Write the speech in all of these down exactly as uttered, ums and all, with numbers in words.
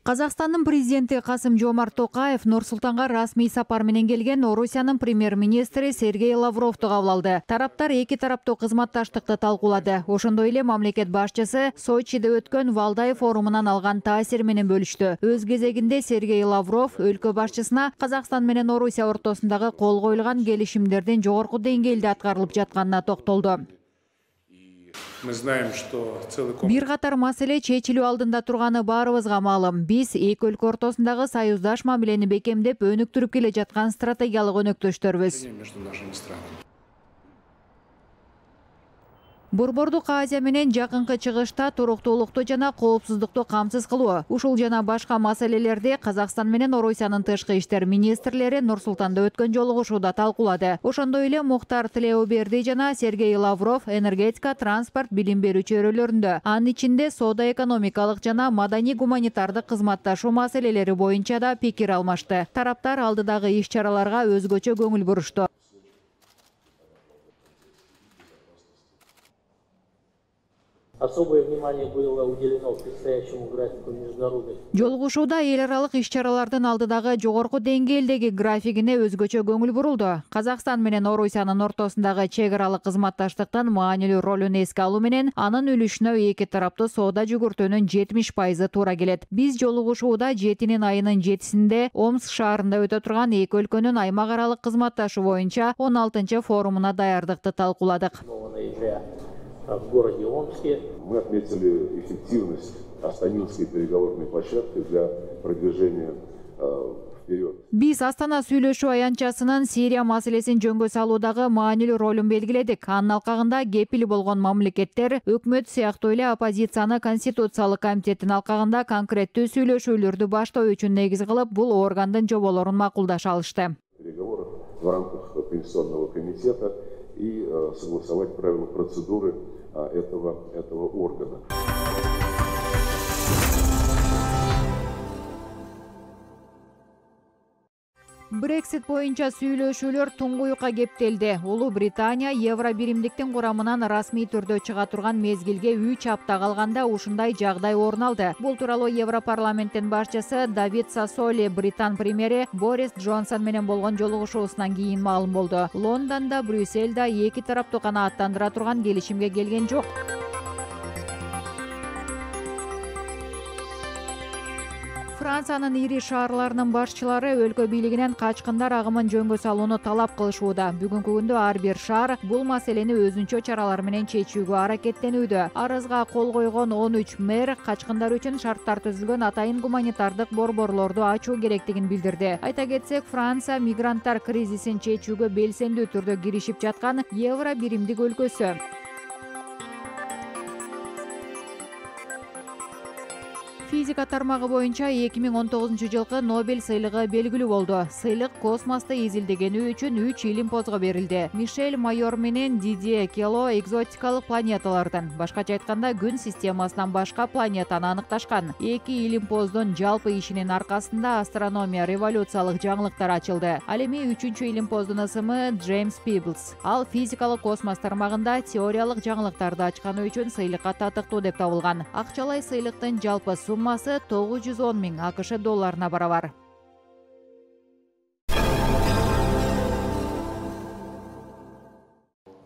Казакстандын президенти Касым-Жомарт Токаев Нур-Султанга расмий сапар менен келген Орусиянын премьер-министри Сергей Лавровду кабыл алды. Тараптар эки тараптуу кызматташтыкты талкуулады. Ошондой эле мамлекет башчысы Сочиде өткөн Валдай форумунан алган таасир менен бөлүштү. Өз кезегинде Сергей Лавров өлкө башчысына Казакстан менен Орусия ортосундагы кол коюлган келишимдердин жогорку деңгээлде аткарылып жатканына токтолду. Бир катар маселе чечилүү алдында турганы баарыбызга маалым. Биз эки өлкө ортосундагы союздаш мамилени бекемдеп өнүктүрүп келе жаткан стратегиялык өнөктөштөрбүз. Борбордук Азия менен жакынкы чыгышта туруктуулукту жана коопсуздукту камсыз кылуу, ушул жана башка маселелерди Казакстан менен Орусиянын тышкы иштер министрлери Нур-Султанда өткөн жолугушууда талкуулады. Ошондой эле Мухтар Тилеуберди жана Сергей Лавров энергетика, транспорт, билим берүү чөйрөлөрүндө, анын ичинде соода экономикалык жана маданий гуманитардык кызматташуу маселелери боюнча да пикир алмашты. Тараптар алдыдагы иш-чараларга өзгөчө көңүл бурушту. Особое внимание было уделено предстоящему графику международных. Жолугушууда эл аралык иш-чаралардын алдыдагы жогорку деңгээлдеги графигине өзгөчө көңүл бурулду. Казакстан менен Орусиянын ортосундагы чек аралык кызматташтыктын маанилүү ролун эске алуу менен анын үлүшүнө эки тараптуу соода жүгүртүүнүн жетимиш пайызы туура келет. Биз жолугушууда жетинин айынын жетисинде Омск шаарында өтө турган эки өлкөнүн аймак аралык кызматташуу боюнча он алтынчы форумуна даярдыкты талкууладык. В городе Омске. Мы отметили эффективность Астанинской переговорной площадки для продвижения вперед. Биз Астана сүйлөшүү аянтчасынын Сирия маселесин жөнгө салуудагы маанилүү ролун белгиледик. Анын алкагында кепил болгон мамлекеттер, өкмөт сыяктуу эле оппозицияны Конституциялык комитеттин алкагында конкреттүү сүйлөшүүлөрдү баштоо үчүн негиз кылып, бул органдын жоболорун макулдаша алышты. Переговоры в рамках Конституционного комитета и согласовать правила процедуры этого, этого органа. Брексит боюнча сүйлөшүүлөр туңгуюкка кептелди. Улуу Британия Евро биримдиктин курамынан расмий түрдө чыга турган мезгилге үч апта калганда ушундай жагдай орун алды. Бул тууралуу Европарламенттин башчысы Давид Сассоли Британ премьери Борис Джонсон менен болгон жолугушуусунан кийин маалым болду. Лондондо, Брюссельде эки тараптуу канааттандыра турган келишимге келген жок. Франциянын ири шаарларынын башчылары өлкө бийлигинен качкындар агымын жөнгө салууну талап кылышууда. Бүгүнкү күндө ар бир шаар бул маселени өзүнчө чаралар менен чечүүгө аракеттенүүдө. Арызга кол койгон он үч мэр качкындар үчүн шарттар түзүлгөн атайын гуманитардык борборлорду ачуу керектигин билдирди. Айта кетсек, Франция мигранттар кризисин чечүүгө белсендүү түрдө киришип жаткан Евро биримдик өлкөсү. Физика тармагы боюнча эки миң он тогузунчу жылкы Нобель сыйлыгы белгилүү болду. Сыйлык космосту изилдегени үчүн үч илимпозго берилди. Мишель Майор менен Дидье Кело экзотикалык планеталардан, башкача айтканда күн системасынан башка планетаны аныкташкан. Эки илимпоздун жалпы ишинин аркасында астрономия революциялык жаңылыктар ачылды. Ал эми үчүнчү илимпоздун ысымы Джеймс Пиблс. Ал физикалык космос тармагында теориялык жаңылыктарды ачканы үчүн сыйлыкка татыктуу деп табылган. Акчалай сыйлыктын жалпы суммасы тогуз жүз он миң АКШ долларына барабар.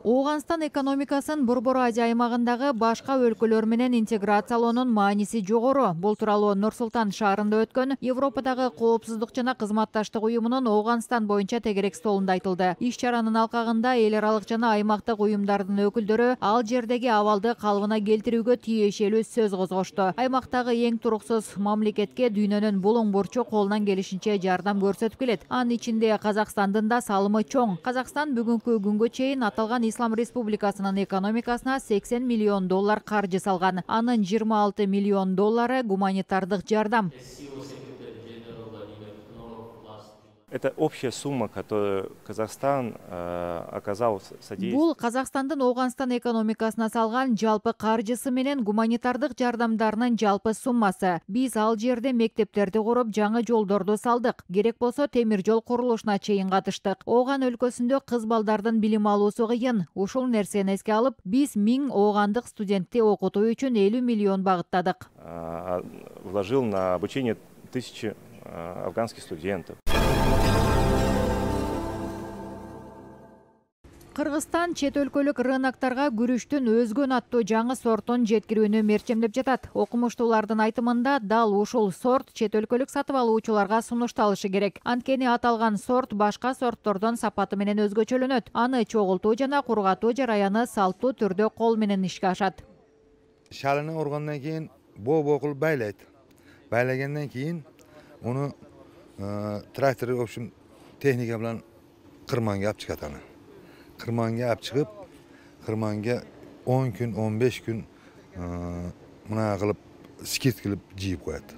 Оогунстан экономикасын Борбор Азия аймагындагы башка өлкөлөр менен интеграциялоонун мааниси жогору. Бул тууралуу Нур-Султан шаарында өткөн Европадагы коопсуздук жана кызматташтык уюмунун Оогунстан боюнча тегерек столунда айтылды. Иш-чаранын алкагында эл аралык жана аймактык уюмдардын өкүлдөрү ал жердеги абалды калыбына келтирүүгө тиешелүү сөз козгошту. Аймактагы эң туруксуз мамлекетке дүйнөнүн булуң бурчу колунан келишинче жардам көрсөтүп келет. Анын ичинде Казакстандын да салымы чоң. Казакстан бүгүнкү күнгө чейин аталган Ислам Республикасынын экономикасына сексен миллион доллар каржы салган. Анын жыйырма алты миллион доллары гуманитардык жардам. Это общая сумма, которую Казахстан оказал содействие. Бул Казакстандын Ооганстан экономикасына салган жалпы каржысы менен гуманитардык жардамдарынын жалпы суммасы. Биз ал жерде мектептерди куруп, жаңы жолдорду салдык. Керек болсо темир жол курулушуна чейин катыштык. Ооган өлкөсүндө кыз балдардын билим алуусу кыйын. Ушул нерсени эске алып, биз миң оогандык студентти окутуу үчүн элүү миллион багыттадык. Вложил на обучение тысячи афганских студентов. Кыргызстан чет өлкөлүк рыноктарга күрүчтүн өзгөн аттуу жаңы сортун жеткирүүнү мерчемдеп жатат. Окумуштуулардын айтымында дал ушул сорт чет өлкөлүк сатып алуучуларга сунушталышы керек. Анткени аталган сорт башка сорттордон сапаты менен өзгөчөлөнөт. Аны чогултуу жана кургатуу жараяны салттуу түрдө кол менен ишке ашат. Шалыны ургандан кийин боо-боо кылып байлайт. Байлагандан кийин уну трактор, в общем, техника менен кырманга алып чыгат аны. Кырманга алып чыгып, кырманга он күн, он беш күн мына кылып скит кылып жийип коет.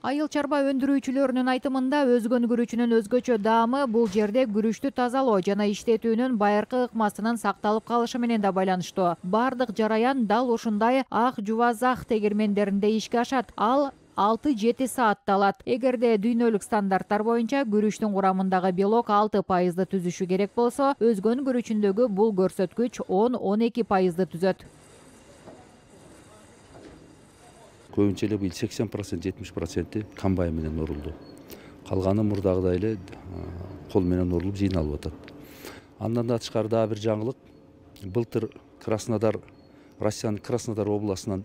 Айыл чарба өндүрүүчүлөрүнүн айтымында өзгөн күрүчүнүн өзгөчө даамы бул жерде күрүчтү тазалоо жана иштетүүнүн байыркы ыкмасынын сакталып калышы менен да байланыштуу. Бардык жараян дал ушундай ак жувазак тегирмендеринде ишке ашат. Ал алты жети саатта алат. Эгерде дүйнөлүк стандарттар боюнча күрүчтүн курамындагы белок алты пайызды түзүшү керек болсо, өзгөн күрүчүндөгү бул көрсөткүч он он эки пайызды түзөт. Көбүнчө эле быйыл сексен процент жетимиш проценти комбайн менен урулду. Калганы мурдагыдай эле кол менен урулуп жыйналып атат. Андан да тышкары дагы бир жаңылык. Былтыр Краснодар, Россиянын Краснодар областынан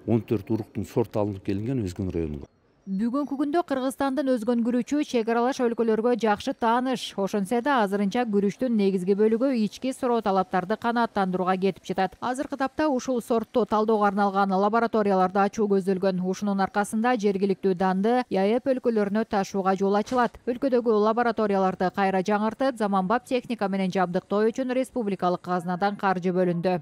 он төрт уруктун сорту алынып келинген өзгөн районунга. Бүгүнкү күндө Кыргызстандын өзгөн күрүчү чек аралаш өлкөлөргө жакшы тааныш. Ошонсо да азырынча күрүчтүн негизги бөлүгү ички суроо талаптарды канааттандырууга кетип жатат. Азыркы тапта ушул сортту талоого арналган лабораторияларды ачуу көзделгөн. Ушунун аркасында жергиликтүү данды ЯЭП өлкөлөрүнө ташууга жол ачылат. Өлкөдөгү лабораторияларды кайра жаңыртып, заманбап техника менен жабдыктоо үчүн республикалык казнадан каржы бөлүндү.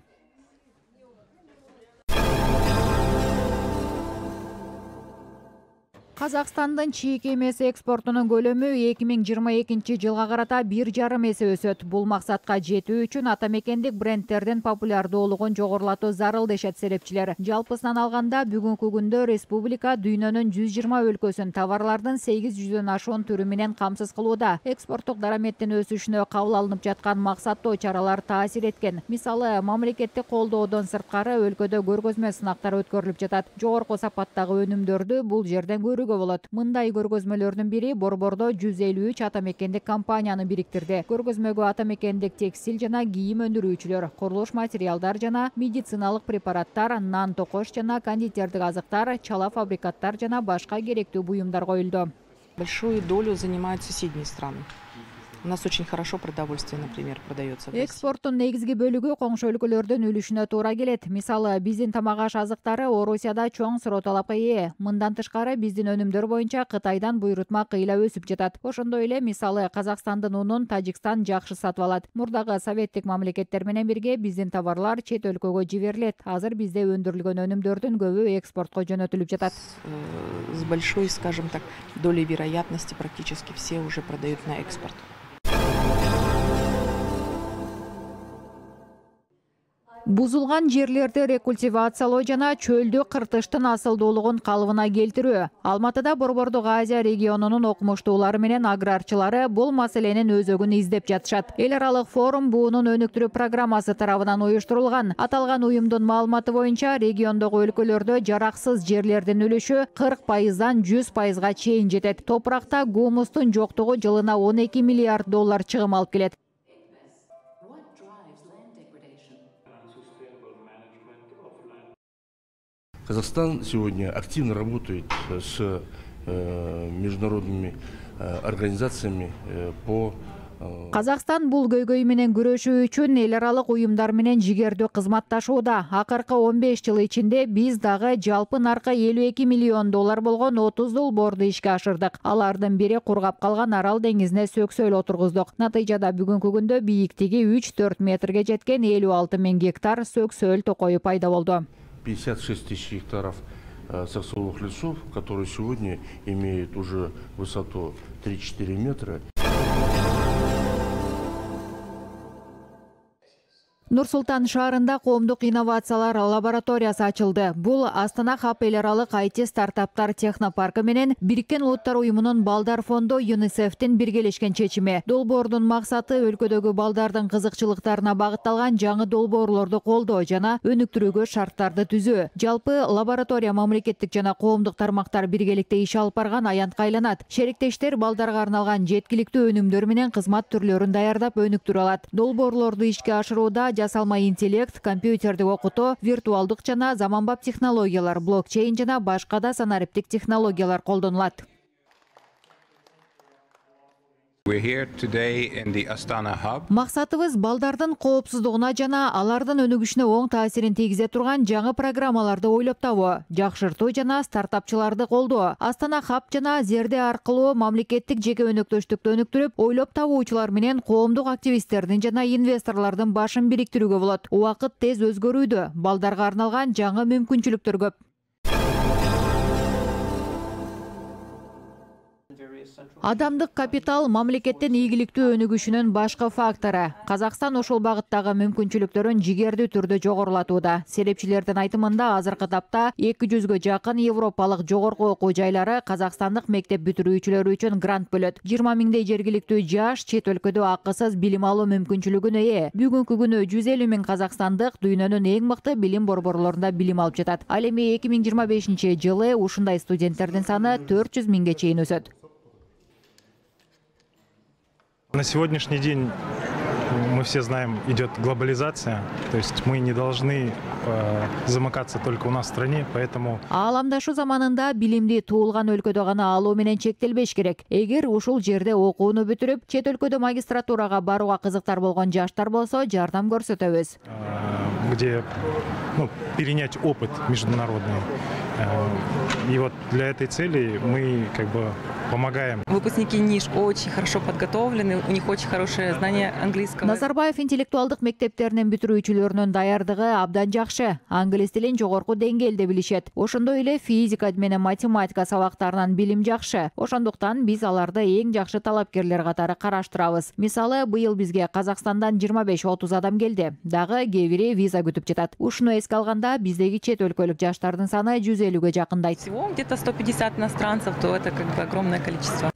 Казакстандын чийик эмес экспортунун көлөмү эки миң жыйырма экинчи жылга карата бир жарым эсе өсөт. Бул максатка жетүү үчүн ата мекендик брендтердин популярдуулугун жогорулатуу зарыл дешет серепчилер. Жалпысынан алганда бүгүнкү күндө республика дүйнөнүн жүз жыйырма өлкөсүн товарлардын сегиз жүздөн ашуун түрү менен камсыз кылууда. Экспорттук дараметтин өсүшүнө кабыл алынып жаткан максаттуу чаралар таасир эткен. Мисалы, мамлекеттик колдоодон сырткары өлкөдө көргөзмө сынактар өткөрүлүп жатат. Жогорку сапаттагы өнүмдөрдү бул жерден көрүүгө болот. Мындай көргөзмөлөрдүн бири Борбордо жүз элүү үч ата мекендик компанияны бириктирди. Көргөзмөгө ата мекендик текстиль жана кийим өндүрүүчүлөр, курулуш материалдар жана медициналык препараттар, нан токош жана кондитердик азыктар, чала фабрикаттар жана башка керектүү буюмдар коюлду. Большую долю занимают соседние страны. У нас очень хорошо продовольствие, например, продается. Экспорттун негизги бөлүгү коңшу өлкөлөрдүн үлүшүнө туура келет. Мисалы, биздин тамак аш азыктары Орусияда чоң суроо талапка ээ. Мындан тышкары биздин өнүмдөр боюнча Кытайдан буйрутма кыйла өсүп жатат. Ошондой эле, мисалы, Казакстандын унун Тажикстан жакшы сатып алат. Мурдагы советтик мамлекеттер менен бирге биздин товарлар чет өлкөгө жиберилет. Азыр бизде өндүрүлгөн өнүмдөрдүн көбү экспортко жөнөтүлүп жатат. С большой, скажем так, долей вероятности практически все уже продают на экспорт. Бузулган жерлерди рекультивациялоо жана чөлдү кыртыштын асылдуулугун калыбына келтирүү. Алматыда Борбордук Азия регионунун окумуштуулары менен аграрчылары бул маселенин өзөгүн издеп жатышат. Эл аралык форум буунун өнүктүрүү программасы тарабынан уюштурулган. Аталган уюмдун маалыматы боюнча региондогу өлкөлөрдө жараксыз жерлердин үлүшү кырк пайыздан жүз пайызга чейин жетет. Топуракта гумустун жоктугу жылына он эки миллиард доллар чыгым алып келет. Казахстан сегодня активно работает с э, международными э, организациями э, по Казакстан бул көйгөй менен күрөшүү үчүн эл аралык уюмдар менен жигердүү кызматташууда. Акыркы он беш жыл ичинде биз дагы жалпы наркы элүү эки миллион доллар болгон отуз долбоорду ишке ашырдык. Алардын бири кургап калган Арал деңизине сөксөөл отургуздук. Натыйжада бүгүнкү күндө бийиктиги үч төрт метрге жеткен элүү алты миң гектар сөксөөл токою пайда болду. пятьдесят шесть тысяч гектаров саксовых лесов, которые сегодня имеют уже высоту три-четыре метра. Нур-Султан шаарында коомдук инновациялар лабораториясы ачылды. Бул Астана Хаб эл аралык ай ти стартаптар технопаркы менен Бириккен Улуттар уюмунун балдар фонду ЮНИСЕФтин биргелешкен чечими. Долбоордун максаты өлкөдөгү балдардын кызыкчылыктарына багытталган жаңы долбоорлорду колдоо жана өнүктүрүүгө шарттарды түзүү. Жалпы лаборатория мамлекеттик жана коомдук тармактар биргеликте иш алып барган аянтка айланат. Шериктештер балдарга арналган жеткиликтүү өнүмдөр менен кызмат түрлөрүн даярдап өнүктүрө алат. Долбоорлорду ишке ашырууда жасалма интеллект, компьютердик окутуу, виртуалдык жана заманбап технологиялар, блокчейн жана башка да санариптик технологиялар колдонулат. Максатыбыз балдардын коопсуздугуна жана алардын өнүгүшүнө оң таасирин тийгизе турган жаңы программаларды ойлоп табуу, жакшыртуу жана стартапчыларды колдоо. Астана Хаб жана Зерде аркылуу мамлекеттик жеке өнөктөштүктү өнүктүрүп, ойлоп табуучулар менен коомдук активисттердин жана инвесторлордун башын бириктирүүгө болот. Убакыт тез өзгөрүүдө, балдарга арналган жаңы мүмкүнчүлүктөр көп. Адамдык капитал мамлекеттин ийгиликтүү өнүгүшүнүн башкы фактору. Казакстан ушул багыттагы мүмкүнчүлүктөрүн жигердүү түрдө жогорулатууда. Серепчилердин айтымында азыркы тапта эки жүзгө жакын европалык жогорку окуу жайлары казакстандык мектеп бүтүрүүчүлөрү үчүн грант бөлөт. жыйырма миңдей жергиликтүү жаш чет өлкөдө акысыз билим алуу мүмкүнчүлүгүнө ээ. Бүгүнкү күнү жүз элүү миң казакстандык дүйнөнүн эң мыкты билим борборлорунда билим алып жатат. Ал эми эки миң жыйырма бешинчи жылы ушундай студенттердин саны төрт жүз миңге чейин өсөт. На сегодняшний день мы все знаем, идет глобализация, то есть мы не должны э, замыкаться только у нас в стране, поэтому... Ааламдашу заманында билимди туулган өлкөдө гана алуу менен чектелбеш керек. Эгер ушул жерде окууну бүтүрүп, чет өлкөдө магистратурага барууга кызыктар болгон жаштар болсо, жардам көрсөтөбүз. Где ну, перенять опыт международный. И вот для этой цели мы как бы помогаем. Выпускники НИШ очень хорошо подготовлены, у них очень хорошее знание английского. Назарбаев интеллектуалдык мектептеринин бүтүрүүчүлөрүнүн даярдыгы абдан жакшы. Англис тилин жогорку деңгээлде билишет. Ошондой эле физика менен математика сабактарынан билим жакшы. Ошондуктан биз аларды эң жакшы талапкерлер катары караштырабыз. Мисалы, быйыл бизге Казакстандан жыйырма беш отуз адам келди. Дагы кээ бири виза күтүп жатат. Ушуну эске алганда биздеги чет өлкөлүк жаштардын саны жүз элүүгө жакындайт. Всего где-то сто пятьдесят иностранцев, то это как бы огромное количество.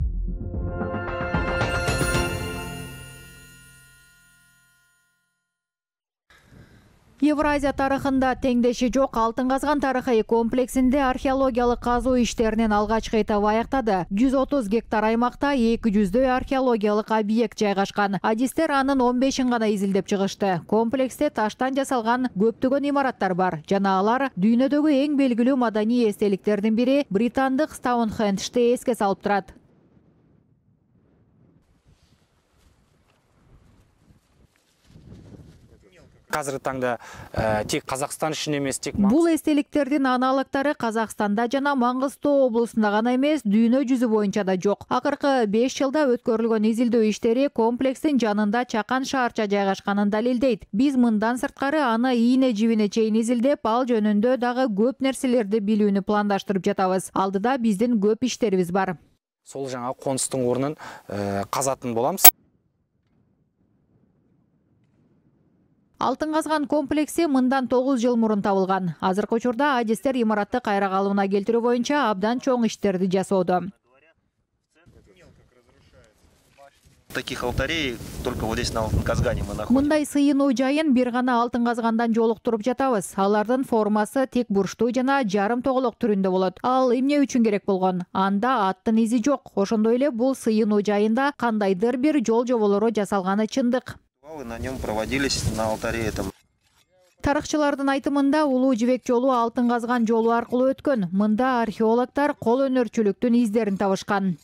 Евразия тарыхында теңдеши жок алтын казган тарыхый комплексинде археологиялык казуу иштеринен алгачкы этап аяктады. жүз отуз гектар аймакта эки жүздөй археологиялык объект жайгашкан. Адистер анын он бешин гана изилдеп чыгышты. Комплексте таштан жасалган көптөгөн имараттар бар жана алар дүйнөдөгү эң белгилүү маданий эстеликтердин бири британдык Стоунхенджди эске салып турат. Азыркы таңда тек Казакстан үчүн эмес, тек бул эстеликтердин аналогдору Казакстанда жана Маңгыстоо облусунда гана эмес, дүйнө жүзү боюнча да жок. Акыркы беш жылда өткөрүлгөн изилдөө иштери комплекстин жанында чакан шаарча жайгашканын далилдейт. Биз мындан сырткары аны ийне жибине чейин изилдеп, ал жөнүндө дагы көп нерселерди билүүнү пландаштырып жатабыз. Алдыда биздин көп иштерибиз бар. Сол жаңа конустун орнун казатын боламыз. Алтын казган комплекси мындан тогуз жыл мурун табылган. Азыркы учурда адистер имаратты кайра калыбына келтирүү боюнча абдан чоң иштерди жасоодо. Таких алтарей только вот здесь на Алтын-Казгане мы находим. Мындай сыйынуу жайын бир гана алтын казгандан жолуктуруп жатабыз. Алардын формасы тик бурчтуу жана жарым тоголок түрүндө болот. Ал эмне үчүн керек болгон? Анда аттын изи жок. Ошондой эле бул сыйынуу жайында кандайдыр бир жол жоболору жасалганы чындык. На нем проводились на алтаре этом. Тарыхчылардын айтымында улуу жибек жолу алтын казган жолу аркылуу өткөн. Мында археологдор кол өнөрчүлүктүн издерин табышкан.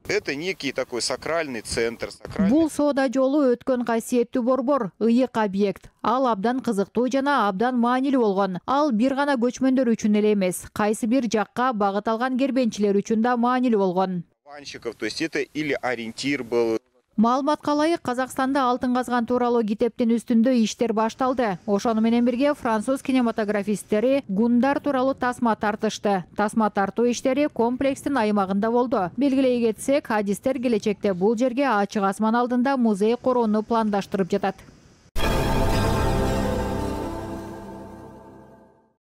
Это некий такой сакральный центр. Бул соода жолу өткөн касиеттүү борбор, ыйык объект. Ал абдан кызыктуу жана абдан маанилүү болгон. Ал бир гана көчмөндөр үчүн эле эмес, кайсы бир жакка багыт алган кербенчилер үчүн да маанилүү болгон. То есть это или ориентир был. Маалыматка ылайык, Казакстанда алтын казган тууралуу китептин үстүндө иштер башталды. Ошону менен бирге француз кинематографисттери Гундар тууралуу тасма тартышты. Тасма тартуу иштери комплекстин аймагында болду. Белгилей кетсек, адистер келечекте бул жерге ачык асман алдында музей короону пландаштырып жатат.